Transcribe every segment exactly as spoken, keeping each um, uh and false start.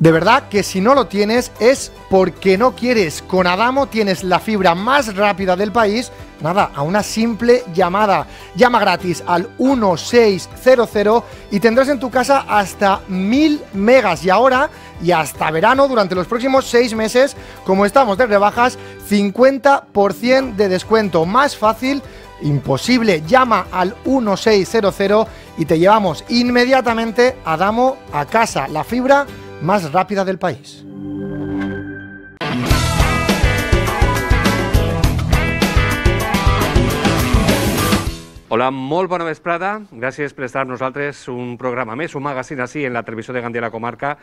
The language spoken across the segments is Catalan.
De verdad que si no lo tienes es porque no quieres. Con Adamo tienes la fibra más rápida del país, nada, a una simple llamada. Llama gratis al uno seis cero cero y tendrás en tu casa hasta mil megas. Y ahora, y hasta verano, durante los próximos seis meses, como estamos de rebajas, cincuenta por ciento de descuento. Más fácil imposible. Llama al uno seis cero cero y te llevamos inmediatamente Adamo a casa. La fibra más rápida del país. Hola, molt bona vesprada. Gràcies per estar amb nosaltres un programa més, un magazín així en la televisió de Gandia la Comarca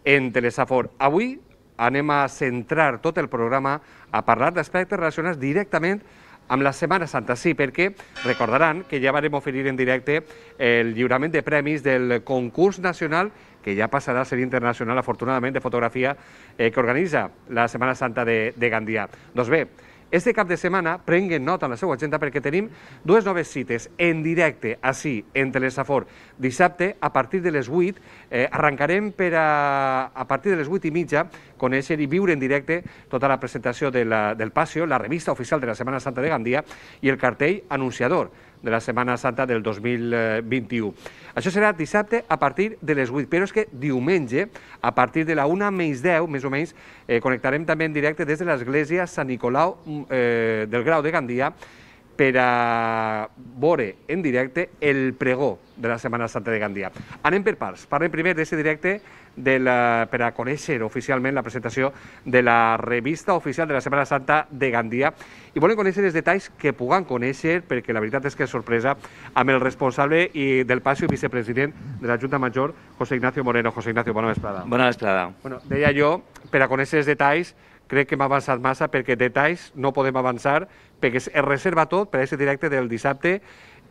en Telesafor. Avui anem a centrar tot el programa a parlar d'aspectes relacionats directament amb la Setmana Santa, sí, perquè recordaran que ja vam oferir en directe el lliurament de premis del concurs nacional, que ja passarà a ser internacional, afortunadament, de fotografia eh, que organitza la Setmana Santa de, de Gandia. Doncs bé, este cap de setmana prenguen nota en la seva agenda perquè tenim dues noves cites en directe, així, en Telesafor. Dissabte, a partir de les vuit, eh, arrencarem per a, a partir de les vuit i mitja, conèixer i viure en directe tota la presentació de la, del Pasio, la revista oficial de la Setmana Santa de Gandia i el cartell anunciador de la Setmana Santa del dos mil vint-i-u. Això serà dissabte a partir de les vuit, però és que diumenge, a partir de la una menys deu, més o menys, eh, connectarem també en directe des de l'església Sant Nicolau eh, del Grau de Gandia per a veure en directe el pregó de la Setmana Santa de Gandia. Anem per parts. Parlem primer d'aquest directe de la, per a conèixer oficialment la presentació de la revista oficial de la Setmana Santa de Gandia i volem conèixer els detalls que puguem conèixer, perquè la veritat és que és sorpresa, amb el responsable i del Pasio i vicepresident de la Junta Major, José Ignacio Moreno. José Ignacio, bona vesprada. Bona vesprada. Bueno, deia jo, per a conèixer els detalls, crec que hem avançat massa perquè detalls no podem avançar, perquè es reserva tot per a aquest directe del dissabte,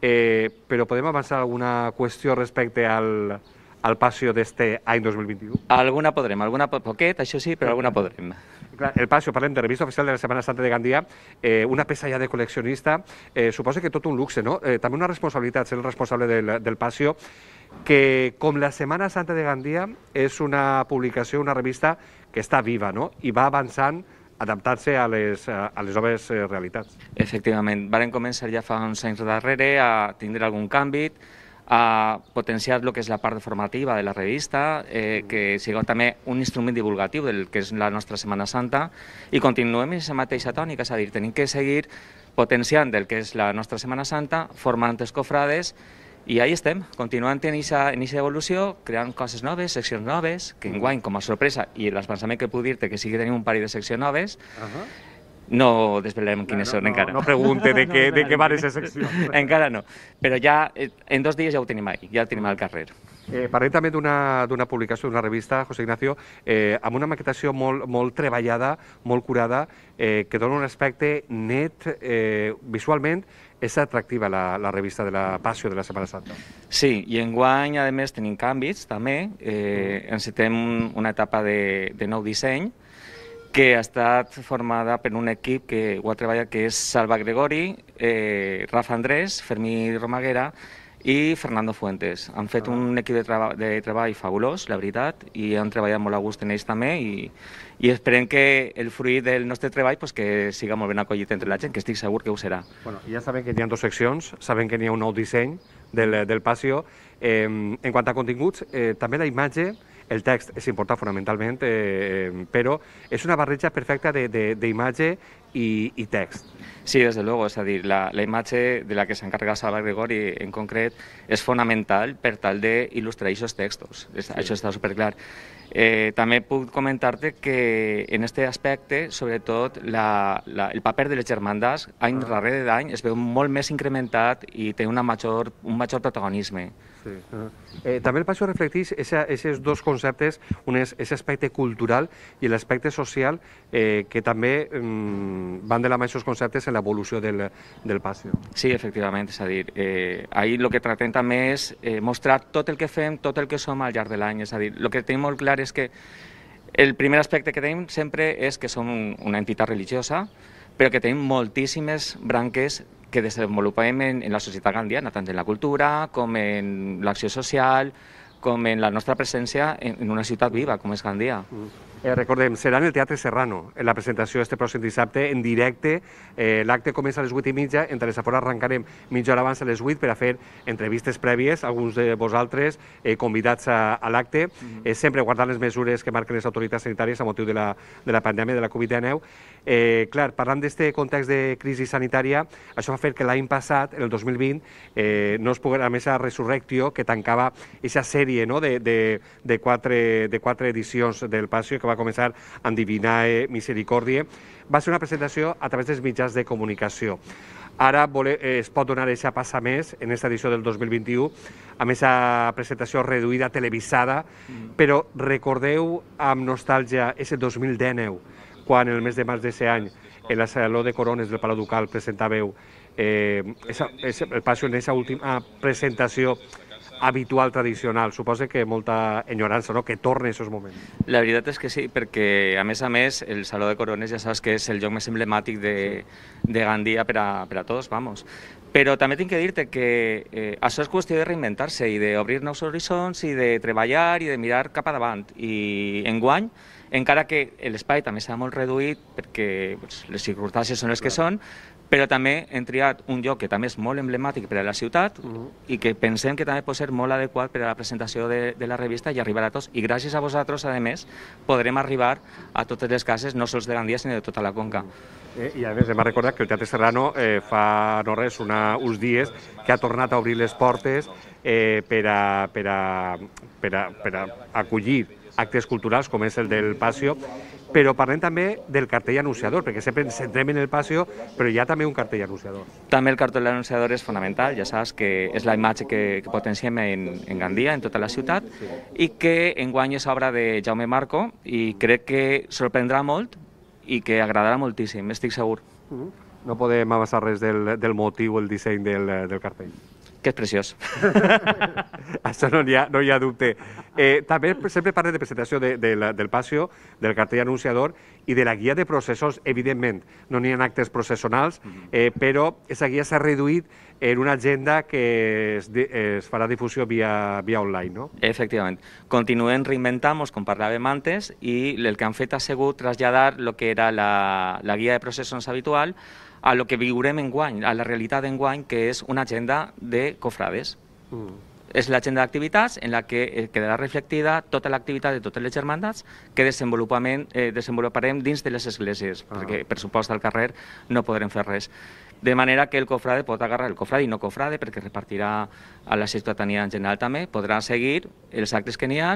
eh, però podem avançar alguna qüestió respecte al, al Pasio d'este any dos mil vint-i-u? Alguna podrem, alguna po poquet, això sí, però alguna podrem. Clar, el Pasio, parlem de revista oficial de la Setmana Santa de Gandia, eh, una peça ja de col·leccionista, eh, suposa que tot un luxe, no? Eh, també una responsabilitat, ser el responsable del, del Pasio, que com la Setmana Santa de Gandia és una publicació, una revista que està viva, no? I va avançant, adaptant-se a les, a les noves realitats. Efectivament, varen començar ja fa uns anys darrere a tindre algun canvi, a potenciar el que és la part formativa de la revista, eh, que sigui també un instrument divulgatiu del que és la nostra Setmana Santa, i continuem en aquesta mateixa tònica, és a dir, tenim que seguir potenciant el que és la nostra Setmana Santa, formant els cofrades, i ahí estem, continuant en aquesta evolució, creant coses noves, seccions noves, que enguany, com a sorpresa, i l'avançament que puc dir-te que sí que tenim un parell de seccions noves, no desvelarem quines són encara. No pregunte de què van aquestes seccions. Encara no, però ja en dos dies ja ho tenim ahí, ja el tenim al carrer. Eh, parlem també d'una publicació, d'una revista, José Ignacio, eh, amb una maquetació molt, molt treballada, molt curada, eh, que dona un aspecte net, eh, visualment, és atractiva la, la revista de la Pasio de la Setmana Santa. Sí, i enguany, a més, tenim canvis, també. Eh, encetem una etapa de, de nou disseny, que ha estat formada per un equip que ho ha treballat, que és Salva Gregori, eh, Rafa Andrés, Fermí Romaguera i Fernando Fuentes. Han fet un equip de, treba de treball fabulós, la veritat, i han treballat molt a gust en ells també, i, i esperem que el fruit del nostre treball pues, que siga molt ben acollit entre la gent, que estic segur que ho serà. Bueno, ja saben que hi ha dues seccions, saben que hi ha un nou disseny del, del Pasio. Eh, en quant a continguts, eh, també la imatge, el text és important fonamentalment, eh, però és una barreja perfecta d'imatge i, i text. Sí, des de luego, és a dir, la, la imatge de la que s'encarrega Salva Gregori en concret és fonamental per tal d'il·lustrar aquests textos, sí. Això està superclar. Eh, també puc comentar-te que en aquest aspecte, sobretot, la, la, el paper de les germandats any ah. darrere d'any es veu molt més incrementat i té una major, un major protagonisme. Sí. Eh, també el Pasio reflecteix aquests dos conceptes, un és aquest aspecte cultural i l'aspecte social, eh, que també eh, van de la mà aquests conceptes en l'evolució del, del Pasio. Sí, efectivament, és a dir, eh, ahir el que tractem també és eh, mostrar tot el que fem, tot el que som al llarg de l'any, és a dir, el que tenim molt clar és que el primer aspecte que tenim sempre és que som una entitat religiosa, però que tenim moltíssimes branques que desenvolupem en, en la societat gandiana, tant en la cultura com en l'acció social, com en la nostra presència en, en una ciutat viva, com és Gandia. Mm. Eh, recordem, serà en el Teatre Serrano, en la presentació este pròxim dissabte, en directe. Eh, L'acte comença a les vuit i mitja, en Telesafora arrencarem mitja hora abans a les vuit per a fer entrevistes prèvies, alguns de vosaltres eh, convidats a, a l'acte, mm-hmm. eh, sempre guardant les mesures que marquen les autoritats sanitàries a motiu de la, de la pandèmia de la Covid dinou. Eh, clar, parlant d'aquest context de crisi sanitària, això va fer que l'any passat, el dos mil vint, eh, no es pogués, a més a Resurrectio, que tancava aquesta sèrie, no?, de, de, de, quatre, de quatre edicions del Passió, que va començar amb Divinae Misericòrdie, va ser una presentació a través dels mitjans de comunicació. Ara vole, eh, es pot donar aquesta passa més en aquesta edició del dos mil vint-i-u, amb aquesta presentació reduïda, televisada, mm. però recordeu amb nostàlgia ese dos mil dinou, quan el mes de març d'aquest any, en la Saló de Corones del Palau Ducal presentàveu eh, esa, esa, el Passió en aquesta última presentació habitual, tradicional. Suposa que molta enyorança, no?, que torna a aquests moments. La veritat és que sí, perquè a més a més el Saló de Corones ja saps que és el lloc més emblemàtic de, de Gandia per a, per a tots, vamos. Però també tinc que dir-te que eh, això és qüestió de reinventar-se i d'obrir nous horitzons i de treballar i de mirar cap a davant. I enguany, encara que l'espai també s'ha molt reduït perquè pues, les circumstàncies són les que són, però també hem triat un lloc que també és molt emblemàtic per a la ciutat uh-huh. i que pensem que també pot ser molt adequat per a la presentació de, de la revista i arribar a tots. I gràcies a vosaltres, a més, podrem arribar a totes les cases, no sols de Gandia, sinó de tota la Conca. Eh, I a més, hem recordat que el Teatre Serrano eh, fa no res, una, uns dies que ha tornat a obrir les portes eh, per, a, per, a, per, a, per a acollir actes culturals com és el del Passió, però parlem també del cartell anunciador, perquè sempre ens centrem en el Passió, però hi ha també un cartell anunciador. També el cartell anunciador és fonamental, ja saps que és la imatge que, que potenciem en, en Gandia, en tota la ciutat, sí. I que enguany és obra de Jaume Marco i crec que sorprendrà molt i que agradarà moltíssim, estic segur. Uh-huh. No podem avançar res del, del motiu, el disseny del, del cartell. Que és preciós. Això no hi ha, no hi ha dubte. Eh, també sempre parlem de presentació de, de la, del Passió, del cartell anunciador i de la guia de processos, evidentment. No n'hi ha actes processionals, eh, però aquesta guia s'ha reduït en una agenda que es, es farà difusió via, via online, no? Efectivament. Continuem reinventant-nos, com parlàvem antes, i el que han fet ha sigut traslladar el que era la, la guia de processions habitual a lo que viurem enguany, a la realitat d'enguany, que és una agenda de cofrades. Mm. És l'agenda d'activitats en la que quedarà reflectida tota l'activitat de totes les germandats que desenvolupament, eh, desenvoluparem dins de les esglésies, ah. perquè per supost al carrer no podrem fer res. De manera que el cofrade pot agarrar el cofrade i no cofrade, perquè repartirà a la ciutadania en general també, podrà seguir els actes que n'hi ha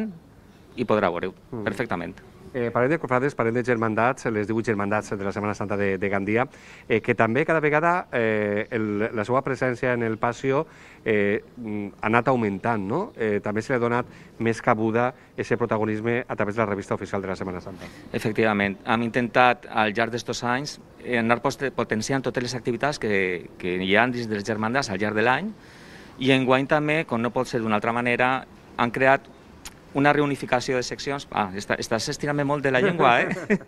i podrà veure-ho mm. perfectament. Eh, parlem de cofrades, parlem de germandats, les divuit germandats de la Setmana Santa de, de Gandia, eh, que també cada vegada eh, el, la seva presència en el Passió eh, ha anat augmentant, no? Eh, també se li ha donat més cabuda aquest protagonisme a través de la revista oficial de la Setmana Santa. Efectivament, hem intentat al llarg d'estos anys anar potenciant totes les activitats que, que hi ha dins dels germandats al llarg de l'any i enguany també, com no pot ser d'una altra manera, han creat una reunificació de seccions, ah, està, estàs estirant molt de la llengua, eh?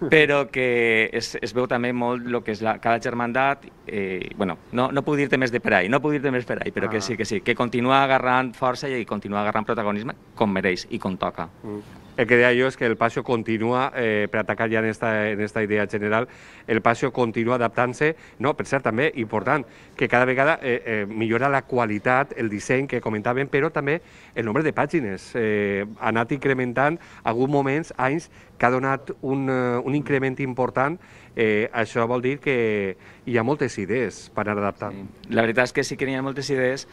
Però que es, es veu també molt el que és la, cada germandat, eh, bueno, no, no puc dir-te més de per ahí, no puc dir-te més per ahí, però ah. que sí, que sí, que continua agarrant força i continua agarrant protagonisme com mereix i com toca. Mm. El que deia jo és que el Passió continua, eh, per atacar ja en esta, en esta idea general, el Passió continua adaptant-se, no, per cert, també, important, que cada vegada eh, eh, millora la qualitat, el disseny que comentàvem, però també el nombre de pàgines. Eh, ha anat incrementant, alguns moments, anys, que ha donat un, uh, un increment important. Eh, això vol dir que hi ha moltes idees per anar adaptant. Sí. La veritat és que sí que hi ha moltes idees,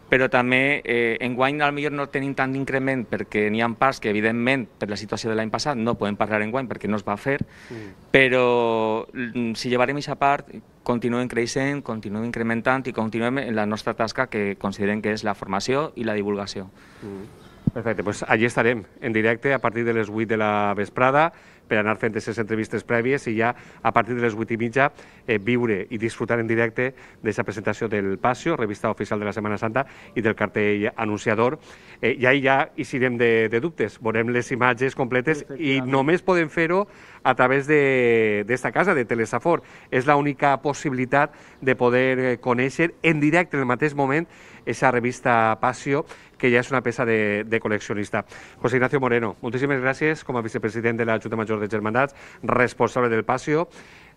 però també eh, enguany potser no tenim tant d'increment perquè n'hi ha parts que evidentment per la situació de l'any passat no podem parlar enguany perquè no es va fer, mm. però si llevarem aquesta part continuem creixent, continuem incrementant i continuem en la nostra tasca que considerem que és la formació i la divulgació. Mm. Perfecte, doncs allí estarem en directe a partir de les vuit de la vesprada per anar fent aquestes entrevistes prèvies i ja a partir de les vuit i mitja eh, viure i disfrutar en directe d'aquesta presentació del Passió, revista oficial de la Setmana Santa, i del cartell anunciador. Eh, I ahí ja hi serem de, de dubtes, veurem les imatges completes i només podem fer-ho a través d'esta casa, de Telesafor. És l'única possibilitat de poder conèixer en directe en el mateix moment esa revista Pasio, que ja és una peça de, de col·leccionista. José Ignacio Moreno, moltíssimes gràcies com a vicepresident de la Junta Major de Germandats, responsable del Pasio.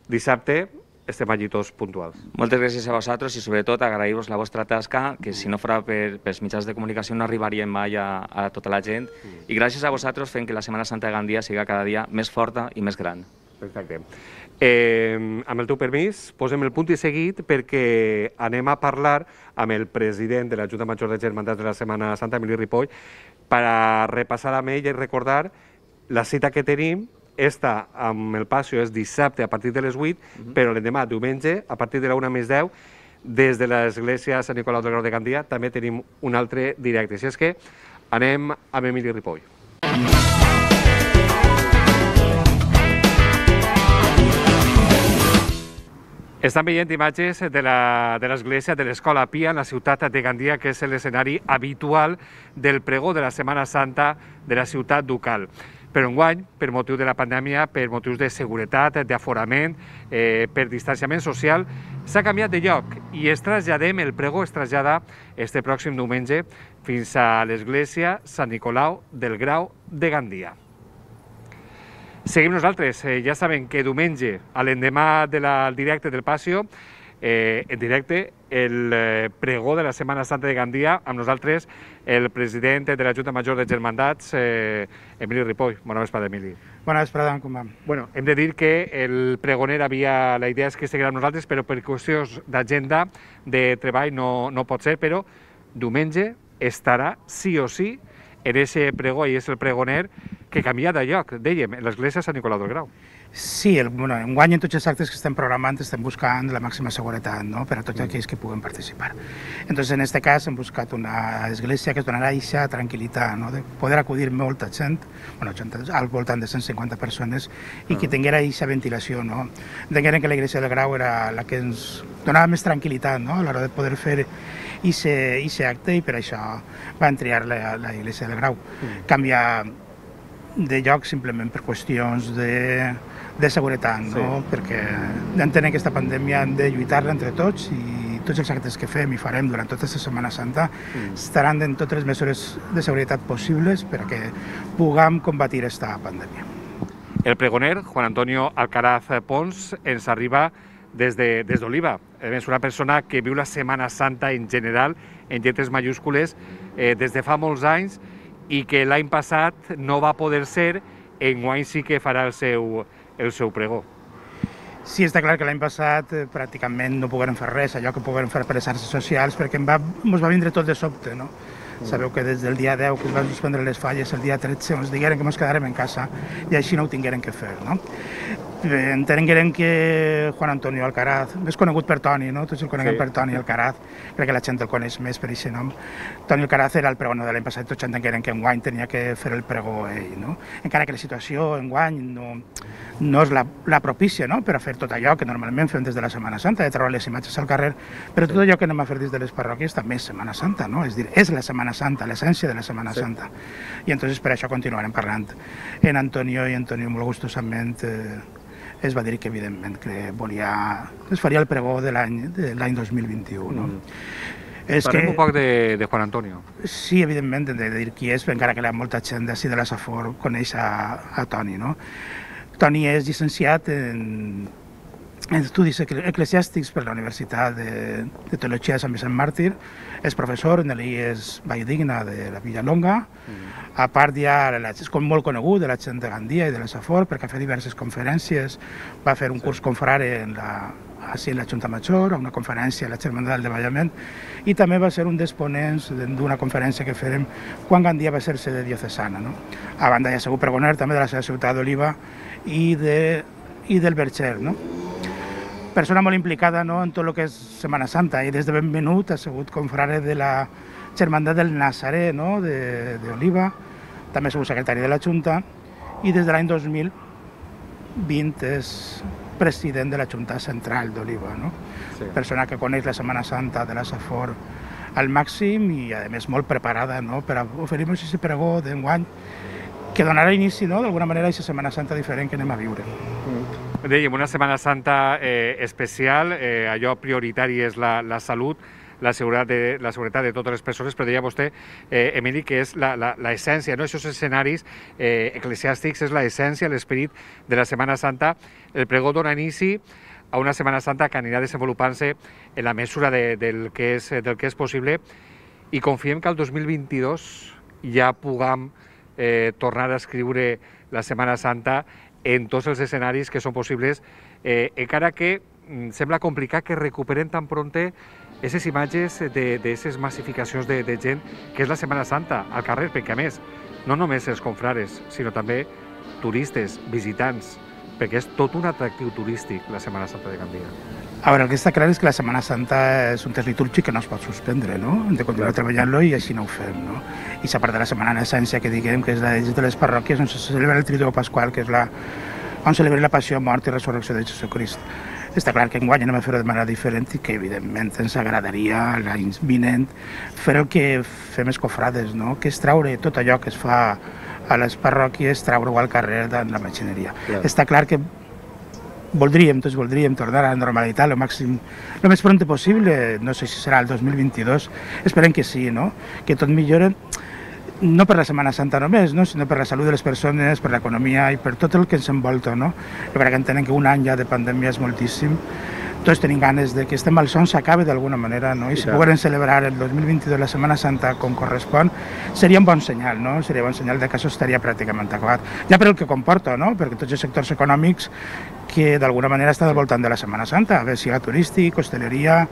Dissabte estem allí tots puntuals. Moltes gràcies a vosaltres i sobretot agrair-vos la vostra tasca, que si no fora per, pels mitjans de comunicació no arribaríem mai a, a tota la gent, i gràcies a vosaltres fent que la Setmana Santa de Gandia siga cada dia més forta i més gran. Perfecte. Eh, amb el teu permís, posem el punt i seguit perquè anem a parlar amb el president de la Junta Major de Germandats de la Setmana Santa, Emili Ripoll, per a repassar amb ell i recordar la cita que tenim. Esta, amb el Pasio, és dissabte a partir de les vuit, uh-huh. però l'endemà, diumenge, a partir de la una més deu, des de l'església Sant Nicolau del Grau de Gandia, també tenim un altre directe. Així és que anem amb Emili Ripoll. Estan veient imatges de l'església de l'Escola Pia en la ciutat de Gandia, que és l'escenari habitual del pregó de la Setmana Santa de la ciutat ducal. Però enguany, per motiu de la pandèmia, per motius de seguretat, d'aforament, eh, per distanciament social, s'ha canviat de lloc i es traslladem, el pregó es trasllada este pròxim diumenge fins a l'església Sant Nicolau del Grau de Gandia. Seguim nosaltres, eh, ja saben que diumenge, a l'endemà del directe del Pasio, eh, en directe, el eh, pregó de la Setmana Santa de Gandia, amb nosaltres el president de la Junta Major de Germandats, eh, Emili Ripoll. Bona vesprada, Emili. Bona vesprada, com va? Bueno, hem de dir que el pregoner havia... La idea és que seguirà amb nosaltres, però per qüestions d'agenda, de treball, no, no pot ser, però diumenge estarà sí o sí en aquest pregó, i és el pregoner que canvia de lloc, dèiem, en l'església Sant Nicolau del Grau. Sí, el, bueno, enguany en tots els actes que estem programant estem buscant la màxima seguretat, no?, per a tots aquells que puguen participar. Entonces, en aquest cas hem buscat una església que es donarà aquesta tranquil·litat, no?, de poder acudir molta gent, bueno, gent al voltant de cent cinquanta persones, i que tinguera aquesta ventilació, no? Entengueren que l'església del Grau era la que ens donava més tranquil·litat, no?, a l'hora de poder fer aquest acte, i per això van triar l'església del Grau. Canviar de lloc simplement per qüestions de, de seguretat, no? Sí. Perquè entenem que aquesta pandèmia hem de lluitar-la entre tots, i tots els actes que fem i farem durant tota aquesta Setmana Santa mm. estaran en totes les mesures de seguretat possibles perquè puguem combatir aquesta pandèmia. El pregoner, Juan Antonio Alcaraz Pons, ens arriba des de, des d'Oliva. És una persona que viu la Setmana Santa en general, en lletres majúscules, eh, des de fa molts anys, i que l'any passat no va poder ser, enguany sí que farà el seu, el seu pregó. Sí, està clar que l'any passat eh, pràcticament no poguérem fer res, allò que poguérem fer per les xarxes socials, perquè ens va, ens va vindre tot de sobte, no? Mm. Sabeu que des del dia deu que es van suspendre les falles, el dia tretze ens digueren que ens quedarem en casa i així no ho tingueren que fer, no? Entengueren que Juan Antonio Alcaraz, més conegut per Toni, no? Tots el coneguem sí. per Toni Alcaraz, crec que la gent el coneix més per aquest nom. Toni Alcaraz era el pregonor de l'any passat, tots entengueren que enguany tenia que fer el pregó ell, no? Encara que la situació enguany no, no és la, la propícia, no?, per a fer tot allò que normalment fem des de la Setmana Santa, de treure les imatges al carrer, però tot allò que anem a fer des de les parròquies també és Setmana Santa, no? És dir, és la Setmana Santa, l'essència de la Setmana sí. Santa. I entonces per això continuarem parlant. En Antonio i Antonio molt gustosament eh, es va dir que evidentment que volia, es faria el pregó de l'any dos mil vint-i-u. No? Mm. És Parlem que, un poc de, de Juan Antonio. Sí, evidentment, de dir qui és, encara que molta gent d'ací de la Safor coneix a, a Toni. No? Toni és llicenciat en, en estudis eclesiàstics per la Universitat de, de Teologia de Sant Vicent Màrtir, és professor en l'I E S Valldigna de la Villalonga. Mm. A part ja és molt conegut de la gent de Gandia i de la Safor perquè ha fet diverses conferències, va fer un curs confrare en la, així en la Junta Major, una conferència a la Germandat del Davallament, i també va ser un dels ponents d'una conferència que farem quan Gandia va ser sede diocesana. No? A banda ja segur pregoner també de la seva ciutat d'Oliva i, de, i del Verger. No? Persona molt implicada, no?, en tot el que és Setmana Santa, i des de ben venut ha sigut confrare de la Germandat del Nazaré, no?, d'Oliva, també ha sigut secretari de la Junta, i des de l'any dos mil vint és president de la Junta Central d'Oliva, no? Sí. Persona que coneix la Setmana Santa de la Safor al màxim i, a més, molt preparada, no?, per a oferir-nos aquest pregó d'enguany que donarà inici, no?, d'alguna manera, a aquesta Setmana Santa diferent que anem a viure. Dèiem, una Setmana Santa eh, especial, eh, allò prioritari és la, la salut. la seguretat de, la seguretat de totes les persones, però deia vostè, eh, Emili, que és l'essència, no? Aquests escenaris eh, eclesiàstics és l'essència, l'esperit de la Setmana Santa. El pregó dona inici a una Setmana Santa que anirà desenvolupant-se en la mesura de, del, que és, del que és possible, i confiem que el dos mil vint-i-dos ja puguem eh, tornar a escriure la Setmana Santa en tots els escenaris que són possibles, eh, encara que mm, sembla complicat que recuperen tan prompte aquestes imatges d'aquestes massificacions de, de gent que és la Setmana Santa al carrer, perquè a més, no només els confrares, sinó també turistes, visitants, perquè és tot un atractiu turístic la Setmana Santa de Gandia. A veure, el que està clar és que la Setmana Santa és un test litúrgic que no es pot suspendre, no? Hem de continuar treballant-lo i així no ho fem, no? I s'ha part de la Setmana en essència que diguem que és la de les parròquies on se celebra el Triduo Pasqual, que és la on celebra la passió, mort i resurrecció de Jesucrist. Està clar que enguany anem a fer-ho de manera diferent i que evidentment ens agradaria l'any vinent fer el que fem els cofrades, no? Que és traure tot allò que es fa a les parròquies, treure-ho al carrer de la machineria. Clar. Està clar que voldríem, tots voldríem tornar a la normalitat el màxim, el més pront possible, no sé si serà el dos mil vint-i-dos, esperem que sí, no? Que tot millora, no per la Setmana Santa només, no? Sinó per la salut de les persones, per l'economia i per tot el que ens envolta, no? Jo crec que entenem que un any ja de pandèmia és moltíssim, tots tenim ganes de que este malson s'acabi d'alguna manera, no? I si pogueren celebrar el dos mil vint-i-dos la Setmana Santa com correspon, seria un bon senyal, no? Seria un bon senyal de que això estaria pràcticament acabat. Ja per el que comporta, no? Perquè tots els sectors econòmics que d'alguna manera estan al voltant de la Setmana Santa, a veure si hi ha turístic, hostaleria,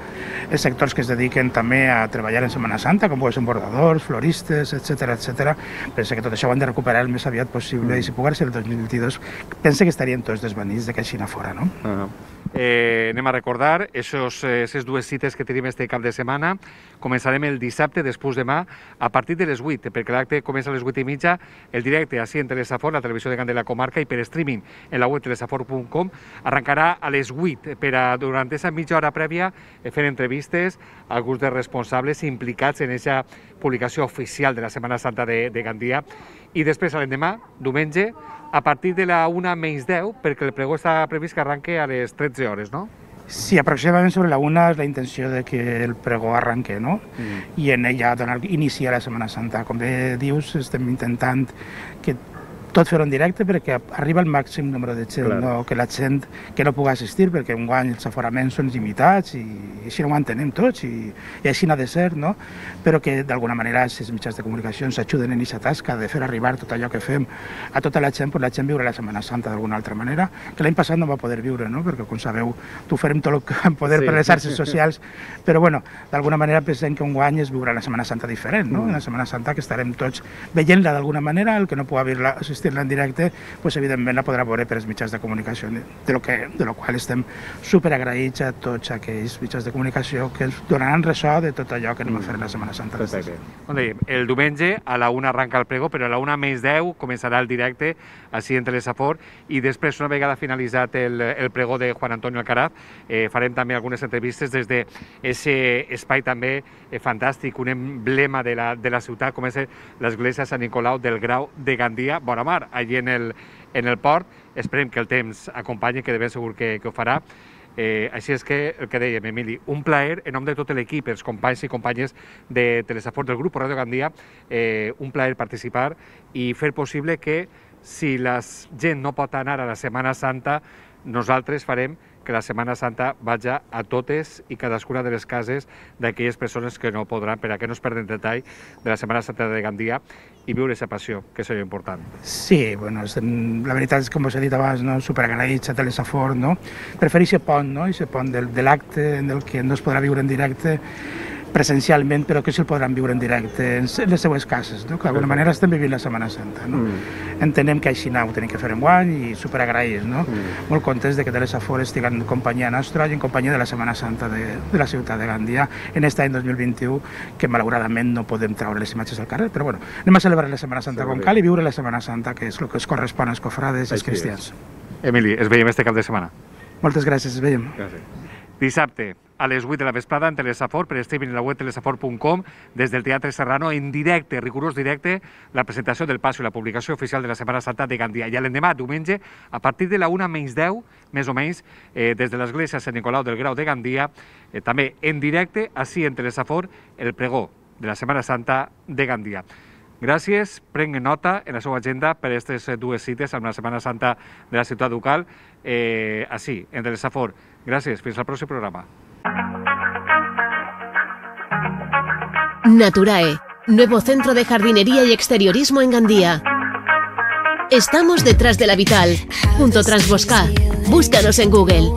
els sectors que es dediquen també a treballar en Setmana Santa, com poden ser bordadors, floristes, etcètera, etcètera. Penso que tot això ho hem de recuperar el més aviat possible i si pogués ser el dos mil vint-i-dos, penso que estarien tots desvanits de que així no fora, no? Uh -huh. Eh, anem a recordar aquestes dues cites que tenim este cap de setmana. Començarem el dissabte, després demà, a partir de les vuit, perquè l'acte comença a les vuit i mitja, el directe així en Telesafor, la televisió de Gandia i la comarca, i per streaming en la web telesafor punt com. Arrencarà a les vuit per a, durant aquesta mitja hora prèvia, fer entrevistes a alguns dels responsables implicats en aquesta publicació oficial de la Setmana Santa de, de Gandia, i després l'endemà, diumenge, a partir de la una menys deu, perquè el pregó està previst que arranque a les tretze hores, no? Sí, aproximadament sobre la una és la intenció de que el pregó arranque, no? Mm. I en ella donar inici a la Setmana Santa. Com bé dius, estem intentant que tot fer-ho en directe perquè arriba el màxim número de gent, claro. No? Que la gent que no pugui assistir, perquè enguany els aforaments són limitats i, i així no ho entenem tots i, i així no ha de ser, no? Però que d'alguna manera els mitjans de comunicació ens ajuden en aquesta tasca de fer arribar tot allò que fem a tota la gent, per la gent viure la Setmana Santa d'alguna altra manera, que l'any passat no va poder viure, no? Perquè com sabeu, tu farem tot el que vam poder sí. Per les xarxes socials, però bueno, d'alguna manera pensem que enguany és viure la Setmana Santa diferent, no? Una Setmana Santa que estarem tots veient-la d'alguna manera, el que no pugui haver-la en directe, pues evidentment la podrà veure per els mitjans de comunicació, de lo, que, de lo qual estem superagraïts a tots aquells mitjans de comunicació que ens donaran ressò de tot allò que anem a fer la Setmana Santa. Com dèiem, el diumenge a la una arranca el pregó, però a la una menys deu començarà el directe així en Telesafor, i després, una vegada finalitzat el, el pregó de Juan Antonio Alcaraz, eh, farem també algunes entrevistes des d'aquest espai també eh, fantàstic, un emblema de la, de la ciutat, com és l'església Sant Nicolau del Grau de Gandia, Vora Mar, allí en el, en el port. Esperem que el temps acompanyi, que de ben segur que, que ho farà. Eh, així és que, el que dèiem, Emili, un plaer en nom de tot l'equip, els companys i companyes de Telesafor del grup Ràdio Gandia, eh, un plaer participar i fer possible que, si la gent no pot anar a la Setmana Santa, nosaltres farem que la Setmana Santa vagi a totes i cadascuna de les cases d'aquelles persones que no podran, per a que no es perden detall de la Setmana Santa de Gandia i viure aquesta passió, que és important. Sí, bueno, la veritat és, com us he dit abans, no, superagraïts a Telesafor, no? Per fer aquest pont, no? Aquest pont del, de l'acte en el que no es podrà viure en directe presencialment, però que se'l podran viure en directe en les seues cases, no? Que d'alguna manera estem vivint la Setmana Santa, no? Mm. Entenem que així no ho tenim que fer enguany i superagraïts, no? Mm. Molt contents de que Telesafor estigui en companyia nostra i en companyia de la Setmana Santa de, de la ciutat de Gandia en aquest any dos mil vint-i-u, que malauradament no podem treure les imatges al carrer, però bueno, anem a celebrar la Setmana Santa com cal i viure la Setmana Santa, que és el que es correspon als cofrades i als cristians. Emili, es veiem este cap de setmana. Moltes gràcies, es veiem. Gràcies. Dissabte, a les vuit de la vesprada en Telesafor, per streaming en la web telesafor punt com, des del Teatre Serrano, en directe, rigorós directe, la presentació del passo i la publicació oficial de la Setmana Santa de Gandia. I l'endemà, diumenge, a partir de la una menys deu, més o menys, eh, des de l'església Sant Nicolau del Grau de Gandia, eh, també en directe, així en Telesafor, el pregó de la Setmana Santa de Gandia. Gràcies, prenguen nota en la seva agenda per aquestes dues cites amb la Setmana Santa de la ciutat ducal, eh, així, en Telesafor. Gràcies, fins al pròxim programa. Naturae, nuevo centro de jardinería y exteriorismo en Gandía. Estamos detrás de la Vital, junto Transbosca. Búscanos en Google.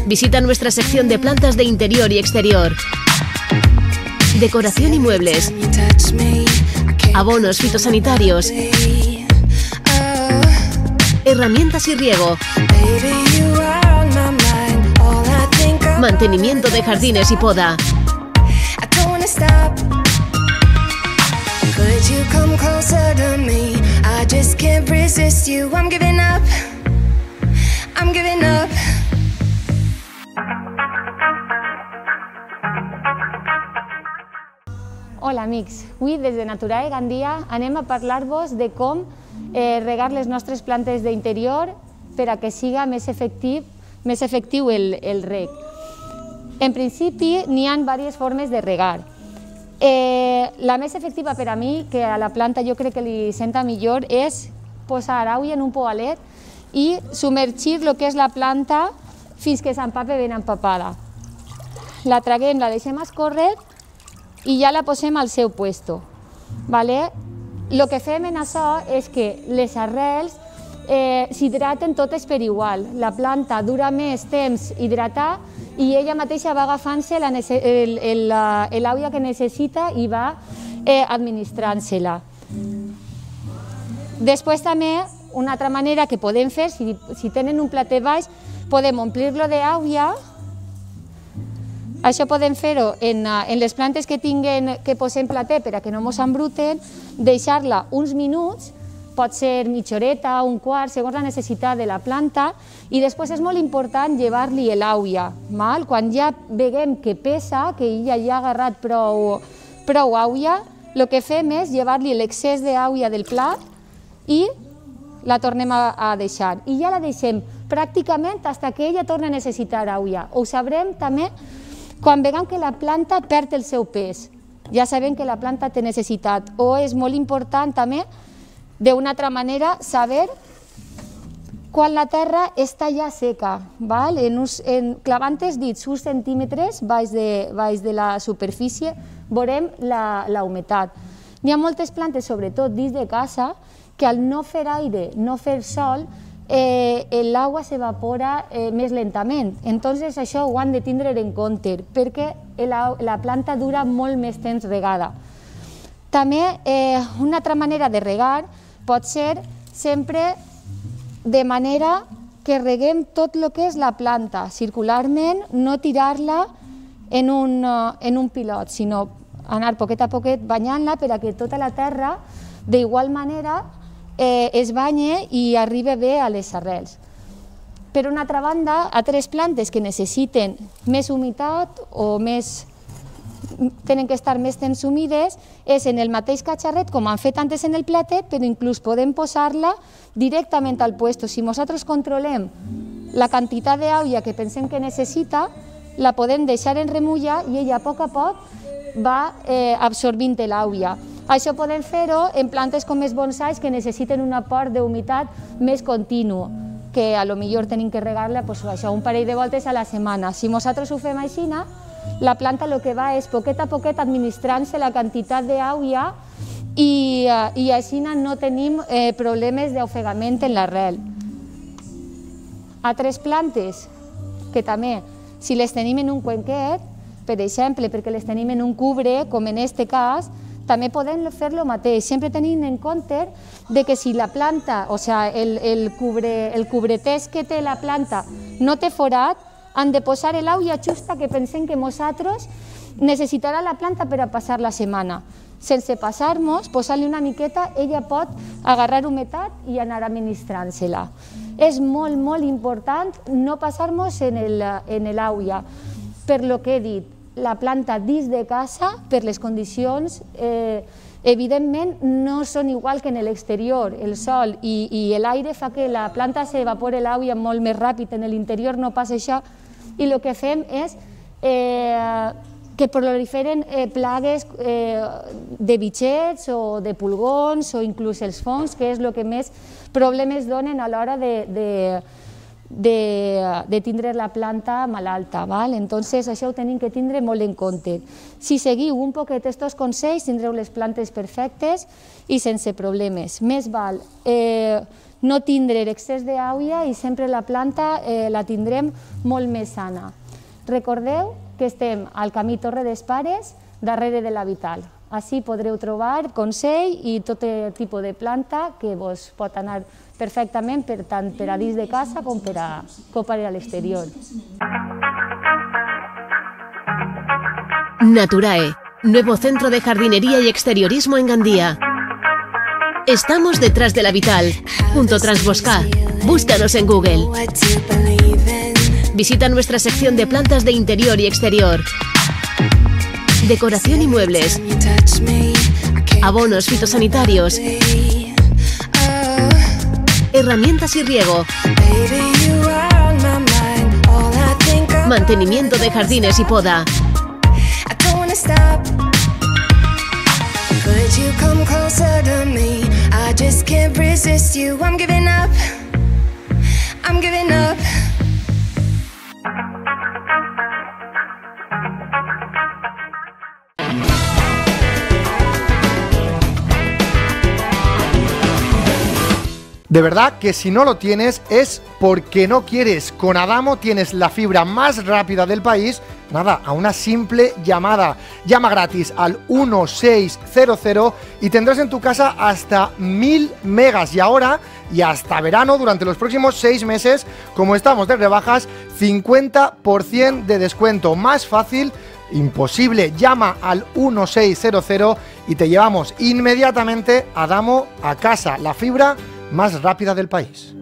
Visita nuestra sección de plantas de interior y exterior, decoración y muebles, abonos fitosanitarios, herramientas y riego, mantenimiento de jardines y poda. Hola amics, avui des de Naturae Gandia anem a parlar-vos de com eh, regar les nostres plantes d'interior per a que siga més efectiu, més efectiu el, el reg. En principi n'hi ha diverses formes de regar. Eh, la més efectiva per a mi, que a la planta jo crec que li senta millor, és posar aigua en un poalet i submergir el que és la planta fins que s'empape ben empapada. La traguem, la deixem escórrer i ja la posem al seu puesto. Vale? El que fem en això és que les arrels eh, s'hidraten totes per igual. La planta dura més temps hidratar i ella mateixa va agafant-se l'aigua que necessita i va eh, administrant-se-la. Després també, una altra manera que podem fer, si, si tenen un platet baix, podem omplir-lo d'aigua. Això podem fer-ho en, en les plantes que tinguen que posem plater per a que no mos embruten, deixar-la uns minuts, pot ser mitja horeta, un quart, segons la necessitat de la planta, i després és molt important llevar-li l'aigua. Quan ja veiem que pesa, que ella ja ha agarrat prou, prou aigua, el que fem és llevar-li l'excés d'aigua del plat i la tornem a, a deixar. I ja la deixem pràcticament fins que ella torna a necessitar aigua. Ho sabrem també quan veiem que la planta perd el seu pes. Ja sabem que la planta té necessitat. O és molt important també, d'una altra manera, saber quan la terra està ja seca, val? En us, en, clavant els dits uns centímetres baix de, baix de la superfície, veurem la, la humitat. N'hi ha moltes plantes, sobretot dins de casa, que al no fer aire, no fer sol, eh, l'aigua s'evapora eh, més lentament. Entonces això ho han de tindre en compte, perquè la, la planta dura molt més temps regada. També eh, una altra manera de regar pot ser sempre de manera que reguem tot el que és la planta, circularment, no tirar-la en un, en un pilot, sinó anar poquet a poquet banyant-la per a que tota la terra d'igual manera eh, es banye i arribi bé a les arrels. Per una altra banda, altres plantes que necessiten més humitat o més tenen que estar més temps humides, és en el mateix catxarret, com han fet antes en el platet, però inclús podem posar-la directament al puesto. Si nosaltres controlem la quantitat d'aigua que pensem que necessita, la podem deixar en remulla i ella a poc a poc va eh, absorbint l'aigua. Això podem fer-ho en plantes com els bonsais que necessiten un aport d'humitat més continu, que a lo millor tenim que regar-la pues, això, un parell de voltes a la setmana. Si nosaltres ho fem així, la planta el que va és poquet a poquet administrant-se la quantitat d'aigua i, i així no tenim eh, problemes d'ofegament en l'arrel. Altres plantes que també, si les tenim en un cuenquet, per exemple, perquè les tenim en un cubre, com en aquest cas, també podem fer el mateix, sempre tenint en compte de que si la planta, o sigui, el, el, cubre, el cubretès que té la planta no té forat, han de posar l'aigua justa que pensem que nosaltres necessitarà la planta per a passar la setmana. Sense passar-nos, posar-li una miqueta, ella pot agarrar humitat i anar administrant-se-la. És molt, molt important no passar-nos en l'àuia. Per lo que he dit, la planta dins de casa, per les condicions, eh, evidentment no són igual que en l'exterior. El sol i, i l'aire fa que la planta s'evapore l'àuia molt més ràpid. En l'interior no passa això i el que fem és eh, que proliferen eh, plagues eh, de bitxets o de pulgons o inclús els fongs, que és el que més problemes donen a l'hora de, de, de, de tindre la planta malalta. Val? Entonces, això ho tenim que tindre molt en compte. Si seguiu un poquet aquests consells, tindreu les plantes perfectes i sense problemes. Més val eh, no tindre excés d'àuia i sempre la planta eh, la tindrem molt més sana. Recordeu que estem al camí Torre d'Espares, darrere de la Vital. Així podreu trobar consell i tot tipus de planta que vos pot anar perfectament per tant per a dins de casa com per a, com per a l'exterior. Naturae, nuevo centro de jardinería y exteriorismo en Gandía. Estamos detrás de la Vital, junto a Transbosca. Búscanos en Google. Visita nuestra sección de plantas de interior y exterior, decoración y muebles, abonos fitosanitarios, herramientas y riego, mantenimiento de jardines y poda. De verdad que si no lo tienes es porque no quieres. Con Adamo tienes la fibra más rápida del país, nada, a una simple llamada. Llama gratis al uno seis cero cero y tendrás en tu casa hasta mil megas. Y ahora, y hasta verano, durante los próximos seis meses, como estamos de rebajas, cincuenta por ciento de descuento. Más fácil imposible. Llama al uno seis cero cero y te llevamos inmediatamente Adamo a casa. La fibra más rápida del país.